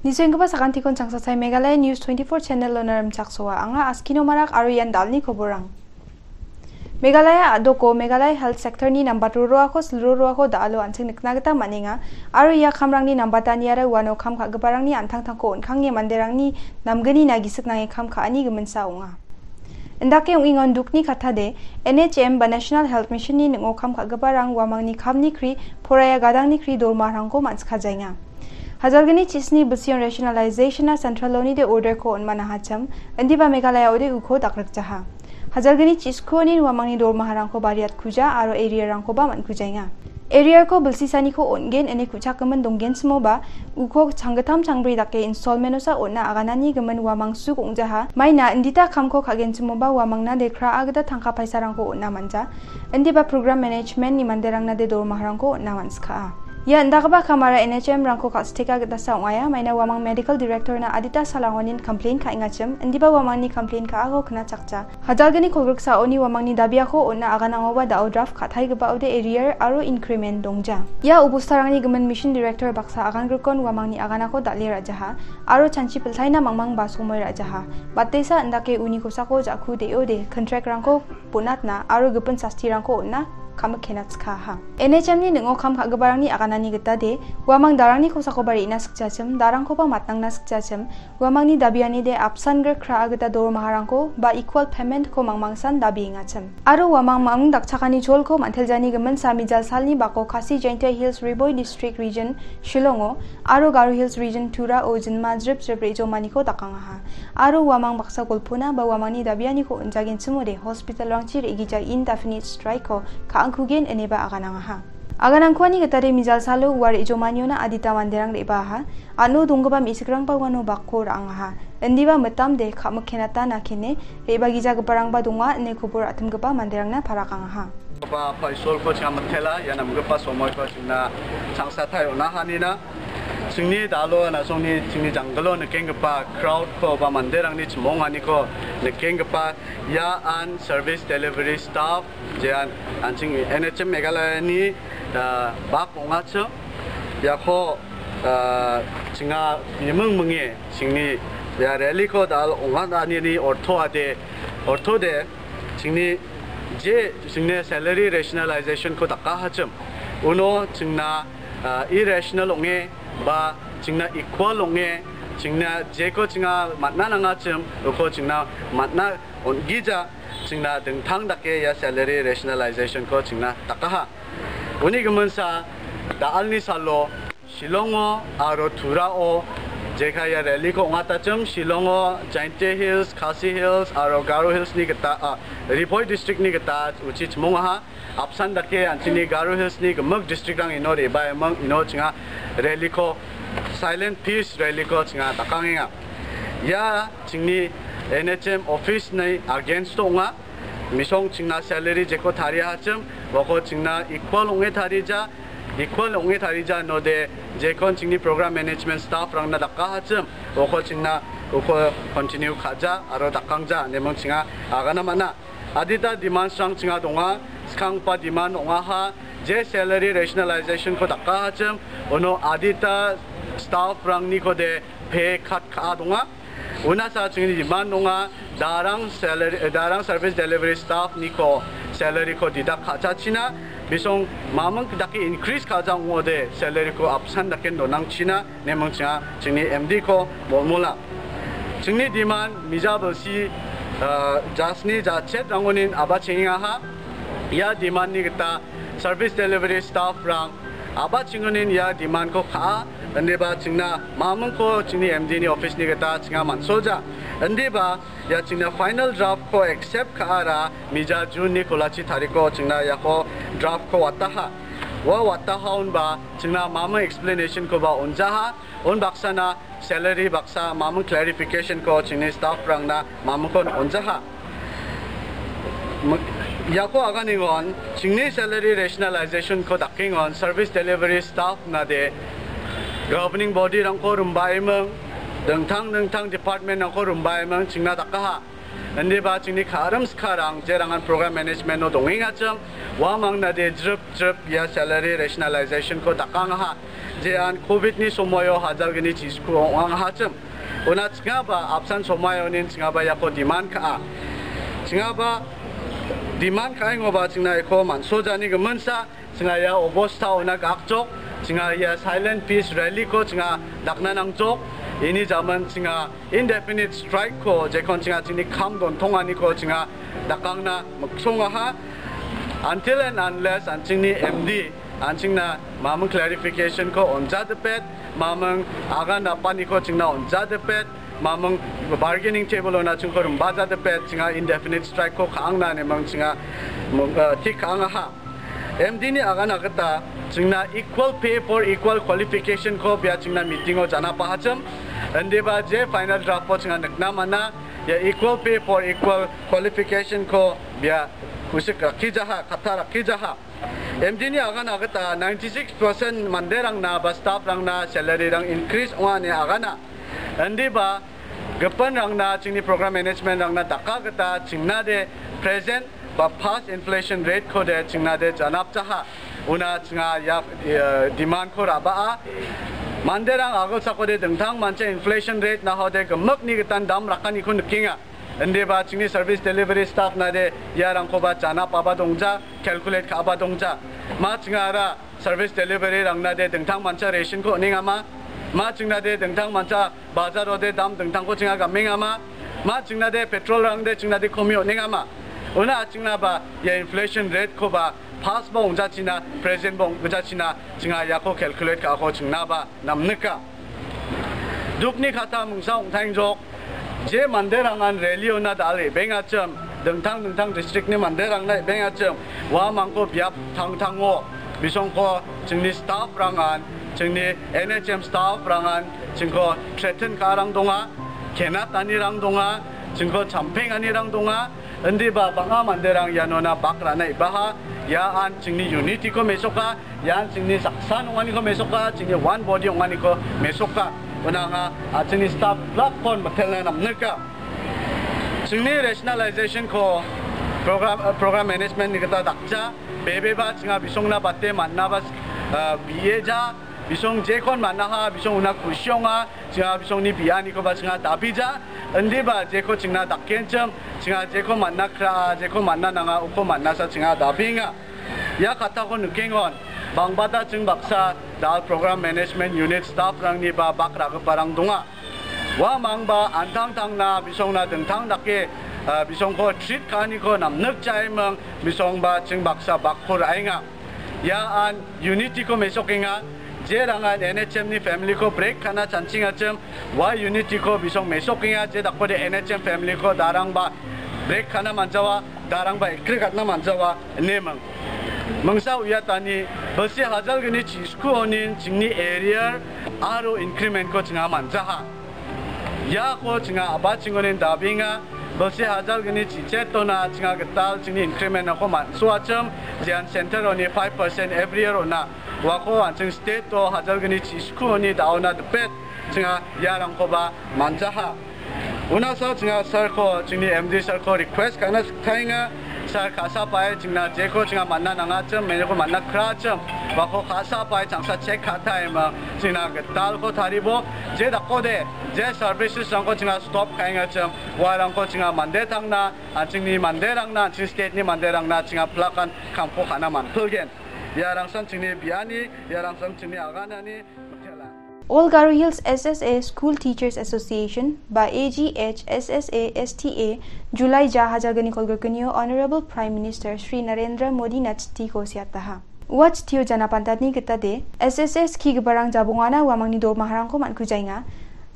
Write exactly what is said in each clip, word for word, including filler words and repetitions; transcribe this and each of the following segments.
Nisoenggipa sakantikon changsatai Meghalaya News twenty-four channel-ona rimchaksoa. Anga Askino Marak aro ian dalni koborang. Meghalaya a·doko Meghalaya Health Sector-ni nambat roroako silroroako da·alo an·ching nikna gita man·enga, aro ia kamrangni nambataniara uano kam ka·giparangni an·tangtangko on·kange manderangni namgnina gisik nange kam ka·ani giminsa ong·a. Indake ong·engon dukni kattade, N H M ba National Health Mission-ni ning·o kam ka·giparang uamangni kamni kri, poraiya gadangni kri dormarangko man·sikajaenga. Hajalgni chisni bilsion rationalization-a central-onide order-ko on·manahachim, indiba Meghalaya-ode uko dakrikjaha. Hajalgni chiskuonin uamangni dormaharangko bariatkuja aro area-rangkoba man·kujaenga. Area-ko bilsisaniko on·gen ine ku·chakgimin donggenchimoba, uko changgittam changbri dake installment-osa on·a aganani gimin uamang suk ong·jaha. Maina indita kamko ka·genchimoba uamangna de kra·a gita tangka paisarangko on·a manja. Indiba program management-ni manderangna de dormaharangko on·a man·skaa. Ia indakgipa kamara N H M-rangko ka·siteka gitasa ong·aia, maina uamang medical director-na adita salangonin complain ka·engachim, indiba uamangni complain ka·ako knachakja. Hajalgni kolgriksaoni uamangni dabiako on·a aganangoba da·o draft ka·taigipaode arrear aro increment dongja. Ia obostarangni gimin mission director baksa agangrikon uamangni aganako dal·e ra·jaha aro chanchi piltaina mangmangba somoi ra·jaha. Batesa indake uni kosako ja·ku de·ode contract-rangko bonatna aro gipin sastirangko on·a kamikkenatskaha. N H M-ni ning·o kam ka·giparangni aganani gita de, uamang darangni kosakoba re·na sikjachim, darangkoba matnangna sikjachim, uamangni dabiani de apsan grik ra·a gita dormaharangko ba equal payment-ko mangmangsan dabiengachim. Aro uamang mangmang dakchakani cholko man·teljani gimin samijal salni bako Khasi Jaintia Hills Ri Bhoi District Region Shillongo aro Garo Hills Region Turao jinma jrip jrip re·jomaniko dakangaha. Aro uamang baksa golpona ba uamangni dabianiko on·jagenchimode hospital-rangchi re·gija indefinite strike-ko ka·angkugen ineba aganangaha. Aganangkuani gitade mijal salo ua re·jomaniona adita manderang re·baaha. Ano donggipa me·sikrangba uano bakko ra·angaha. Indiba mitamde ka·mikkenata nakene re·bagijagiparangba donga ine kobor atimgipa manderangna parakangaha. Ba Paisolko chang mitela, ia namgipa somoiko chingna changsatai on·ahanina. Chingni dalo, na·songni chingni janggilo nikenggipa crowd-ko ba manderangni chimonganiko nikenggipa ia an service delivery staff, jean an ching N H M Meghalaya-ni, ah, bak ong·achim. Iako, ah, chinga biming minge chingni ia rally-ko dal ong·atanini orthoade, orthode chingni je chingni salary rationalization-ko dakahachim. Uno chingna, ah, irrational ong·e ba chingna equal ong·e, chingna jeko chinga man·na nangachim, uko chingna man·na on·gija, chingna dingtang dake ia salary rationalization-ko chingna dakaha. Uni giminsa da·alni salo Shillongo aro Turao jeka ia rally-ko ong·atachim, Shillongo Jaintia Hills, Khasi Hills aro Garo Hills-ni gita, ah, Ri Bhoi District-ni gita uchi chimongaha. Apsan dake an·chingni Garo Hills-ni gimik district-rang ino re·baiming, ino chinga rally-ko, silent peace rally-ko chinga dakangenga. Ia chingni N H M office-ni against ong·a. Misong chingna salary jeko tariahachim, uako chingna equal ong·e tarija, equal ong·e tarija inode jekon chingni program management staff-rangna dakahachim, uako chingna uko continue ka·ja aro dakangja ineming chinga agana man·a. Adita demands-rang chinga donga, skanggipa demand ong·aha, je salary rationalization-ko dakahachim, uno adita staff-rangnikode pay cut ka·a donga. Unasa chingni demand ong·a, darang salary, eh, darang service delivery staff-niko salary-ko deduct ka·chachina, bisong maming dake increase ka·ja ong·ode salary-ko apsan dake donangchina. Neming chinga chingni M D-ko molmola. Chingni demand mija bilsi, ah, jasni jachet rangonin abachengaha. Ia demand-ni gita service delivery staff-rang abachengonin ia demand-ko ka·a. Indiba chingna mamingko chingni M D-ni office-ni gita chinga man·solja. Indiba ia chingna final draft-ko accept ka·ara mija June-ni kolachi tariko chingna iako draft-ko wataha. Ua wataha onba chingna maming explanation-koba on·jaha. Unbaksana salary baksa maming clarification-ko chingni staff-rangna mamingkon on·jaha. M-, iako aganengon chingni salary rationalization-ko dakengon service delivery staff-nade governing body-rangko rimbaiming, dingtang dingtang department-rangko rimbaiming chingna dakaha. Indiba chingni ka·rim skarang jerangan program management-o dongengachim, uamangna de jrip jrip ia salary rationalization-ko dakangaha. Jean covid-ni somoio hajalgni chisku ong·angahachim. Una chingaba apsan somoionin chingaba iako demand ka·a. Chingaba demand ka·engoba chingna iko mansojani giminsa, chinga ia obosta ona gakjok, chinga ia silent peace rally-ko chinga dakna nangjok, ini jaman chinga indefinite strike-ko jekon chinga chingni kam dontonganiko chinga dakangna miksongaha. Until and unless an·chingni M D an·chingna mamung clarification-ko onjadipet, mamung agan napaniko chingna onjadipet, mamung bargaining table-ona chingko rimbajadipet, chinga indefinite strike-ko ka·angna nemang chinga mung-, eh, tik ka·angaha. M D-ni agana gita chingna equal pay for equal qualification-ko bia chingna meeting-o janapahachim. Indiba je final draft-o chinga nikna man·a, ia equal pay for equal qualification-ko bia kusik rakkijaha, katta rakkijaha. M D-ni agana gita ninety-six percent manderangna ba staff-rangna salary-rang increase ong·a ine agana. Indiba gipinrangna chingni program management-rangna daka gita chingnade present ba past inflation rate-kode chingnade janapjaha. Una chinga ia, eh, demand-ko ra·baa. Manderang agilsakode dingtang mancha inflation rate nahode gimikni gitan dam rakaniko nikenga. Indiba chingni service delivery staff-nade iarangkoba janapaba dongja, calculate ka·aba dongja. Ma chingara service delivery-rangnade dingtang mancha ration-ko on·engama? Ma chingnade dingtang mancha bazarode dam dingtangko chinga gamengama? Ma chingnade petrol-rangde chingnade komi on·engama? Una chingnaba ia inflation rate-koba past-ba ong·jachina, present-ba ong·jachina chinga iako calculate ka·ako chingnaba namnika. Dukni kata mingsa ong·taengjok, je manderangan rally-ona dal·e bengachim, dingtang dingtang district-ni manderangna e·bengachim, uamangko biap tangtango, bisongko chingni staff-rangan, chingni N H M staff-rangan, chingko threaten ka·arang donga, kenatanirang donga, chingko champenganirang donga, indiba bang·a manderang ianona bak ra·na ibaha, ia an chingni unity-ko mesoka, ian chingni saksa ong·aniko mesoka, chingni one body ong·aniko mesoka. Unanga, a, chingni staff black kon mitelna namnika. Chingni rationalization-ko program, a, program management-ni gita dakja, bebeba chinga bisongna bate man·naba, a, bieja, bisong jekon man·aha, bisong una kusionga, chinga bisongni bianikoba chinga dabija, indiba jeko chingna dakenchim, chinga jeko man·na kraa, jeko man·na nanga, uko man·nasa chinga dabenga. Ia katako nikengon, bangbata ching baksa dal program management unit staff-rangniba bak ra·giparang donga. Uamangba an·tangtangna bisongna dingtang dake, ah, bisongko treat ka·aniko namnikjaiming bisongba ching baksa bakko ra·enga. Ia an unity-ko mesokenga. Jerangan N H M-ni family-ko break ka·na chanchingachim, ua unity-ko bisong mesokenga, je dakode N H M family-ko darangba break ka·na man·jawa, darangba ekri ka·na man·jawa, ineming. Mingsa uiatani, bilsi hajalgni chiskuonin chingni arrear aro increment-ko chinga man·jaha. Iako chinga a·bachingonin dabenga, bilsi hajalgni chichetona chinga gital chingni increment-rangko man·soachim, jean center-oni five percent every year on·a. Uako an·ching state-o hajalgni chiskuoni da·ona dipet chinga iarangkoba man·jaha. Unasa chinga sir-ko, chingni M D sir-ko request ka·na siktaenga. Sir ka·sapae chingna jeko chinga man·na nangachim, meneko man·na krachim. Uako ka·sapae changsa check ka·taeming, chingna gitalko taribo. Je dakode, je services-rangko chinga stop ka·engachim, uarangko chinga mande tangna, an·chingni manderangna, an·ching state-ni manderangna chinga plakan kamko ka·na man·pilgen. Iarangsan chingni biani, iarangsan chingni aganani. All Garo Hills S S A School Teachers Association ba A G H S S A S T A July ja hajalgni kolgrikgnio Honorable Prime Minister Shri Narendra Modi-na chitiko seataha. Ua chitio janapantatni gitade S S A skigiparang jabongana uamangni dormaharangko man·kujaenga.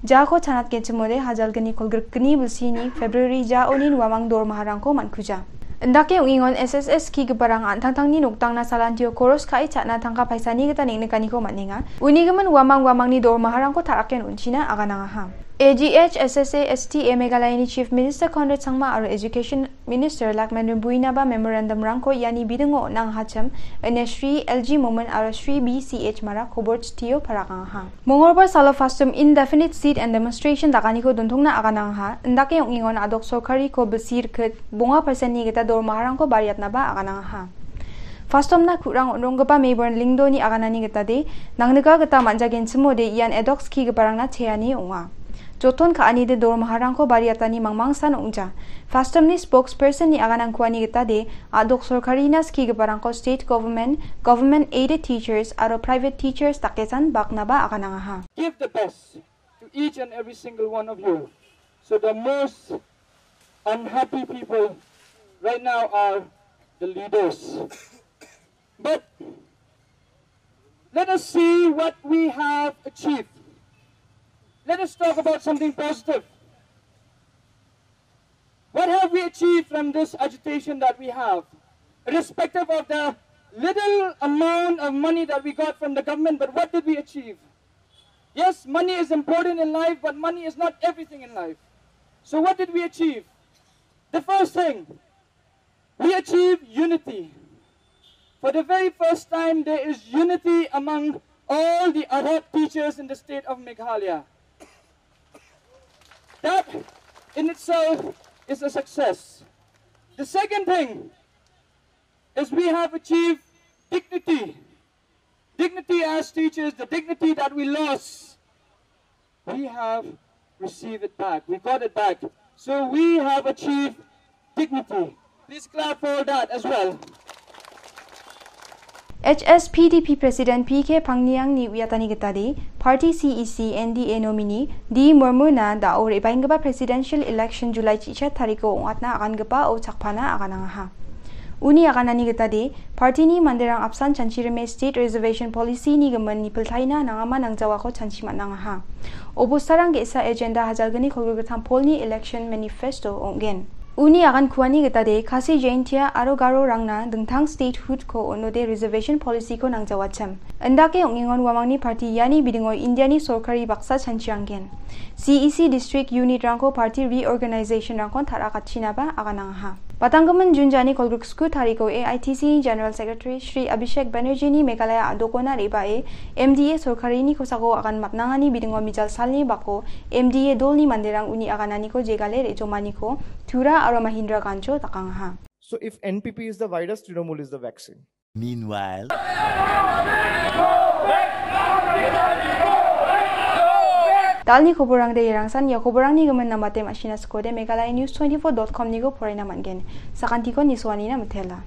Jako chanatgenchimode hajalgni kolgrikgni bilsini February jaonin uamang dormaharangko man·kuja. Indake ong·engon S S A skigiparang an·tangtangni noktangna salantio koros ka·e cha·na tangka paisani gita neng·nikaniko man·enga. Unigimin uamang uamangni dormaharangko ta·raken on·china aganangaha. A G H S S A S T A Meghalayani Chief Minister Conrad Sangma aro Education Minister Lakman Rimbuinaba memorandum-rangko iani bidingo on·angahachim, ine Shri L G Momin aro Shri B C H Mara kobor chitio parakangaha. Mongolbar salo FASTOM indefinite sit and demonstration dakaniko dontongna aganangaha, indake ong·engon a·dok sorkariko bilsi rikit bonga percent-ni gita dormaharangko bariatnaba aganangaha. FASTOM-na ku·rang on·ronggipa Mayborn Lyngdoh-ni aganani gitade, nangnika gita man·jagenchimode ian a·dok skigiparangna cheani ong·a. Joton ka·anide dormaharangko bariatani mangmangsan ong·ja. FASTOM-ni spokesperson-ni aganangkuani gitade, a·dok sorkarina skigiparangko state government, government aided teachers aro private teachers dakesan baknaba aganangaha. Give the best to each and every single one of you. So the most unhappy people right now are the leaders. But let us see what we have achieved. Let us talk about something positive. What have we achieved from this agitation that we have? Irrespective of the little amount of money that we got from the government, but what did we achieve? Yes, money is important in life, but money is not everything in life. So what did we achieve? The first thing, we achieved unity. For the very first time, there is unity among all the Arab teachers in the state of Meghalaya. That in itself is a success. The second thing is we have achieved dignity. Dignity as teachers, the dignity that we lost, we have received it back. We got it back. So we have achieved dignity. Please clap for that as well. H S P D P President P K Phangniang-ni uiatani gitade, Party C E C N D A nominee D Murmuna da·o re·baenggipa presidential election July chi-, chat tariko ong·atna agangipao chakpana aganangaha. Uni aganani gitade, party-ni manderang apsan chanchirime State Reservation Policy-ni gimin nipiltaina nangama nangjawako chanchi man·angaha. Obostarang ge·sa agenda hajalgni kolgrikgittam polni election manifesto ong·gen. Uni agankuani gitade, Khasi Jaintia aro Garorangna dingtang statehood-ko on·ode reservation policy-ko nangjawachim. Indake ong·engon uamangni party iani bidingo Indiani sorkari baksa chanchianggen. C E C district unit-rangko party reorganization-rangkon ta·rakatchinaba aganangaha. Batanggimin Jun jani kolgriksku tariko A I T C General Secretary Shri Abhishek Banerjee-ni Meghalaya a·dokona re·bae M D A sorkarini kosako agan matnangani bidingo mijal salni bako M D A dolni manderang uni agananiko jegale re·jomaniko Tura aro Mahindra Gancho dakangaha. So if N P P is the virus, Trinamool is the vaccine. Meanwhile. Dalni koborangde irangsan ia koborangni gimin namate ma·sina sikode Meghalaya News twenty-four dot com-niko poraina man·gen. Sakantiko nisoanina mitela.